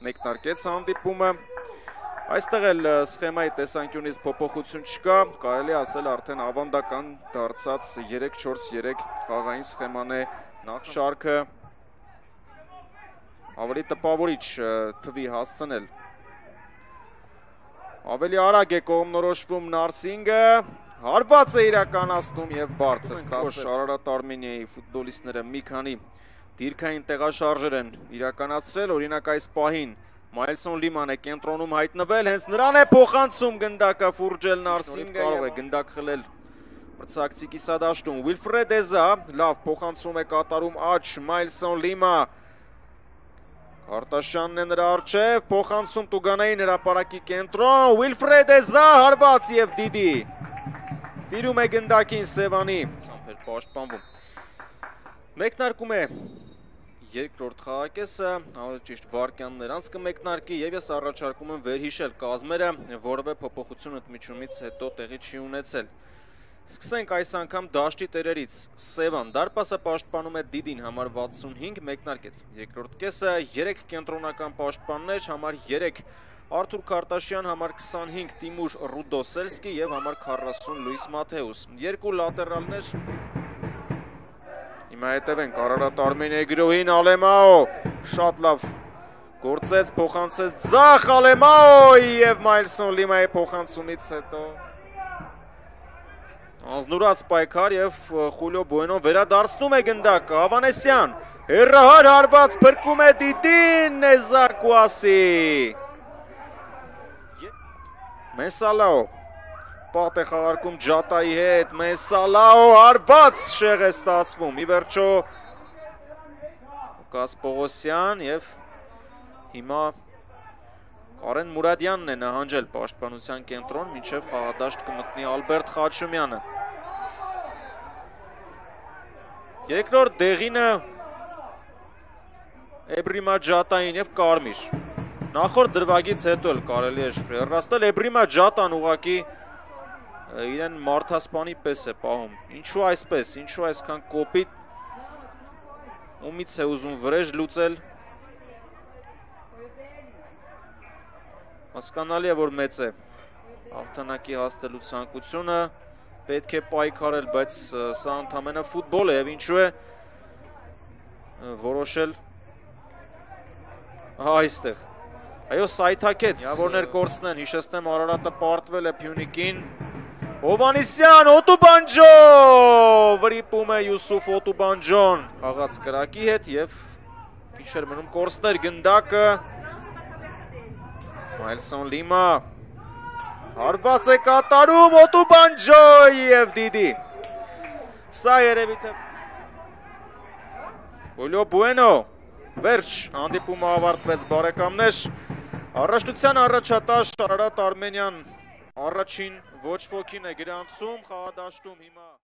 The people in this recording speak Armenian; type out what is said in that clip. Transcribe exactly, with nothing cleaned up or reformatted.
մեկնարկեց հանդիպումը։ Այստեղ էլ սխեմայի տեսանկյունից փոփոխություն չկա, կարելի ասել արդեն ավանդական դարձած երեք չորս երեք խաղային սխեման է նախ շարքը ավելի տպավորիչ թվի հասցնել։ Ավելի արագ է կողմնորոշվում Նարսինգը, հարված է իրականացնում եւ բարձր ստացել Արարատ Արմենիայի ֆուտբոլիստները մի քանի դիրքային տեղաշարժեր են իրականացրել, օրինակ այս պահին Մայլսոն Լիման է կենտրոնում հայտնվել, հենց նրան է փոխանցում գնդակը Ֆուրջել Նարսինգը, կարող է գնդակ խլել մրցակցի կիսադաշտում։ Ուիլֆրեդ Էզա լավ փոխանցում է կատարում աջ Մայլսոն Լիմա, Քարտաշյանն է նրա առջև, փոխանցում Տուգանային հրապարակի կենտրոն, Ուիլֆրեդ Էզա հարված եւ Դիդի տիրում է գնդակին Սևանի, ցամփեր պաշտպանվում։ Մեկնարկում է երկրորդ խաղակեսը, ավելի ճիշտ վարկյաններ անց կմեկնարկի եւ ես առաջարկում եմ վերհիշել կազմերը, որովե փոփոխություն ընդմիջումից հետո տեղի չի ունեցել։ Սկսենք այս անգամ դաշտի տերերից։ Սևան դարպասը պաշտպանում է Դիդին, համար վաթսունհինգ, մեկնարկեց երկրորդ կեսը, երեք կենտրոնական պաշտպաններ, համար երեք Արթուր Քարտաշյան, համար քսանհինգ Տիմուր Ռուդոսելսկի եւ համար քառասուն Լուիս Մաթեուս։ Երկու լատերալներ։ Հիմա հետևենք Արարատ Արմենիայի գրոհին Ալեմաո, շատ լավ գործեց, փոխանցեց ձախ Ալեմաոյի եւ Մայլսոն Լիմայի փոխանցումից հետո անձնուրաց պայքար եւ Խուլիո Բուենոն վերադարձնում է գնդակը, Ավանեսյան, հեռահար հարված փրկում է Դիդին, Նեզակուասի։ Մեսալաո, պատ է խաղարկում Ջատայի հետ, Մեսալաո հարված շեղ է ստացվում, ի վերջո Կաս Պողոսյան եւ հիմա Կարեն Մուրադյանն է նահանջել պաշտպանության կենտրոն, մինչև խաղադաշտ կմտնի Ալբերտ Խաչումյանը։ Երկրորդ դեղինը Էբրիմա Ջատային եւ Կարմիր։ Նախորդ դրվագից հետո էլ կարելի է հեռացնել, Էբրիմա Ջատան ուղղակի իրեն մարդասպանի պես է պահում։ Ինչու այսպես, ինչու այսքան կոպիտ, ումից է ուզում վրեժ լուծել։ Հասկանալի է, որ մեծ է հաղթանակի հասնելու ցանկությունը, պետք է պայքարել, բայց սա ընդամենը ֆուտբոլ է եւ ինչու է որոշել այստեղ։ Այո, սայթակեց, միավորներ կորցնեն, հիշեցնեմ Արարատը պարտվել է Փյունիկին, Հովանիսյան, Օտուբանջո, վրիպում է Յուսուֆ Օտուբանջոն, խաղաց կրակի հետ եւ քիչ էր մնում կորցներ գնդակը, Մայլսոն Լիմա, հարված է կատարում Օտուբանջոյի եւ Դիդի, սա երևի թե Խուլիո Բուենո, վերջ, հանդիպումը ավարտվեց բարեկամներ, առաջնության առաջատար Արարատ Արմենիան առաջին ոչ ոքին է գրանցում խաղադաշտում հիմա